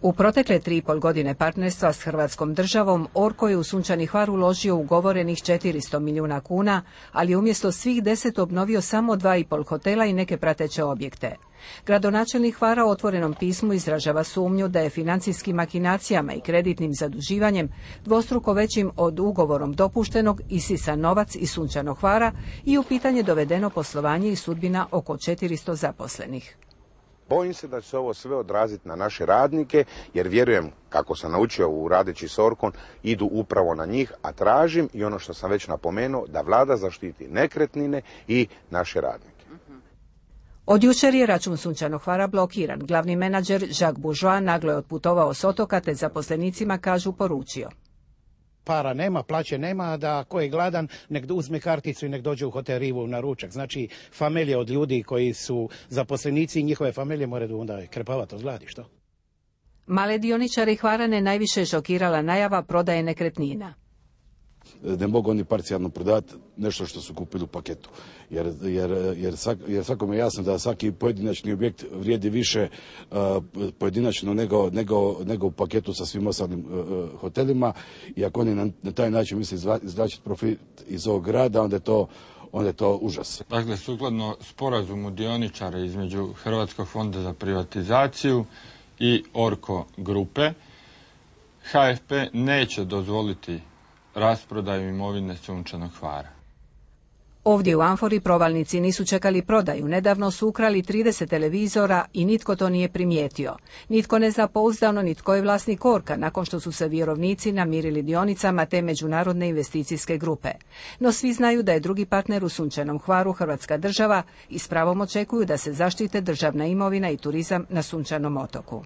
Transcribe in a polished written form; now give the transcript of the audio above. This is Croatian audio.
U protekle 3,5 godine partnerstva s Hrvatskom državom, Orko je u Sunčani Hvar uložio ugovorenih 400 milijuna kuna, ali je umjesto svih 10 obnovio samo 2,5 hotela i neke prateće objekte. Gradonačelnik Hvara u otvorenom pismu izražava sumnju da je financijskim makinacijama i kreditnim zaduživanjem dvostruko većim od ugovorom dopuštenog isisan novac iz Sunčanog Hvara i u pitanje dovedeno poslovanje i sudbina oko 400 zaposlenih. Bojim se da će se ovo sve odraziti na naše radnike, jer vjerujem, kako sam naučio u radeći s Orkom, idu upravo na njih, a tražim i ono što sam već napomenuo, da vlada zaštiti nekretnine i naše radnike. Od jučer je račun Sunčanog Hvara blokiran. Glavni menadžer Jacques Bourgeois naglo je otputovao s otoka, te zaposlenicima, kažu, poručio: para nema, plaće nema, da ko je gladan nek uzme karticu i nek dođe u hotel Rivu na ručak. Znači, familije od ljudi koji su zaposlenici i njihove familije moraju onda krepavati od gladi, što? Male dioničare Hvarane najviše šokirala najava prodaje nekretnina. Ne mogu oni parcijalno prodati nešto što su kupili u paketu. Jer svakome je jasno da svaki pojedinačni objekt vrijedi više pojedinačno nego u paketu sa svim ostalim hotelima. I ako oni na taj način misle izvlačiti profit iz ovog grada, onda je to užas. Dakle, sukladno sporazumu dioničara između Hrvatskog fonda za privatizaciju i Orko grupe, HFP neće dozvoliti rasprodaju imovine Sunčanog Hvara. Ovdje u Amfori provalnici nisu čekali prodaju. Nedavno su ukrali 30 televizora i nitko to nije primijetio. Nitko ne zna pouzdano ni tko je vlasnik Orka, nakon što su se vjerovnici namirili dionicama te međunarodne investicijske grupe. No svi znaju da je drugi partner u Sunčanom Hvaru Hrvatska država i s pravom očekuju da se zaštite državna imovina i turizam na Sunčanom otoku.